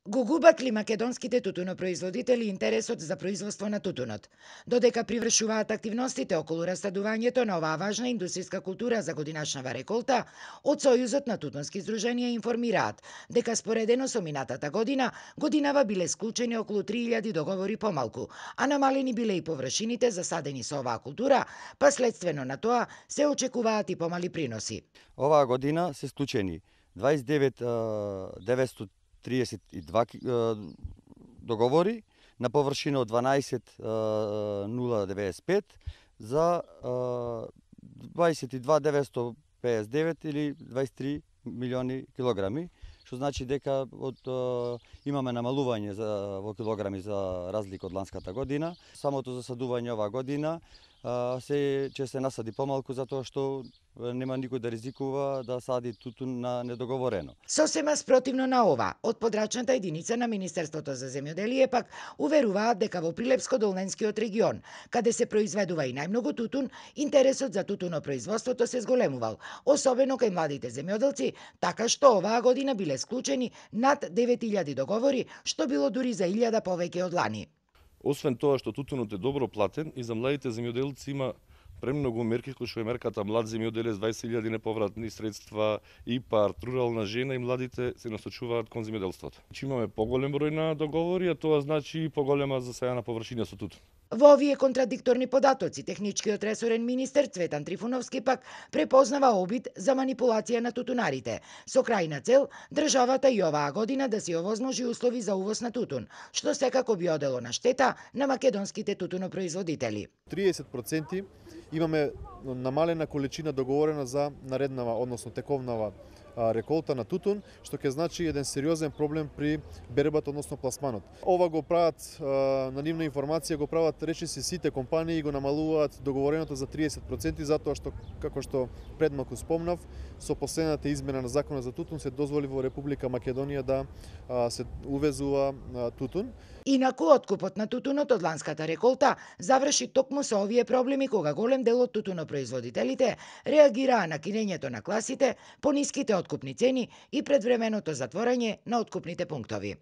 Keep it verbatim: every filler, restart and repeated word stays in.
Го губат ли македонските тутунопроизводители интересот за производство на тутунот? Додека привршуваат активностите околу растадувањето на оваа важна индустријска култура за годинашнава реколта, од Сојузот на тутунски здруженија информираат дека споредено со минатата година, годинава биле склучени околу три илјади договори помалку, а намалени биле и површините засадени со оваа култура, па следствено на тоа се очекуваат и помали приноси. Оваа година се склучени дваесет и девет деветстотини триесет и два договори на површина од дванаесет нула деветдесет и пет за дваесет и два деветстотини педесет и девет или дваесет и три милиони килограми, што значи дека од имаме намалување за во килограми за разлика од ланската година. Самото засадување оваа година се ќе се насади помалку затоа што нема никој да ризикува да сади тутун на недоговорено. Сосема спротивно на ова, од подрачната единица на Министерството за земјоделие пак уверуваат дека во Прилепско-Долненскиот регион, каде се произведува и најмногу тутун, интересот за тутунопроизводството се зголемувал, особено кај младите земјоделци, така што оваа година биле склучени над девет илјади договори, што било дури за илјада повеќе од лани. Освен тоа што тутунот е добро платен и за младите земјоделци има премногу мерки кои што е мерката млад земјоделец, дваесет илјади неповратни средства, ИПАР, рурална жена и младите се насочуваат кон земјоделството. Че имаме поголем број на договори, а тоа значи и поголема засејана површина со тутун. Во овие контрадикторни податоци, техничкиот ресорен министер Цветан Трифуновски пак препознава обид за манипулација на тутунарите, со крајна цел државата и оваа година да си овозможи услови за увоз на тутун, што секако би одело на штета на македонските тутунопроизводители. триесет проценти имаме намалена количина договорена за нареднава, односно тековнава реколта на тутун, што ќе значи еден сериозен проблем при бербата, односно пласманот. Ова го прават на нивна информација, го прават речиси сите компании и го намалуваат договореното за триесет проценти затоа што, како што предмалку спомнав, со последната измена на законот за тутун се дозволи во Република Македонија да се увезува тутун. Инаку откупот на тутунот од ланската реколта заврши токму со овие проблеми кога голем дел од тутунопроизводителите реагираа на кинењето на класите, пониските откупни цени и предвременото затворање на откупните пунктови.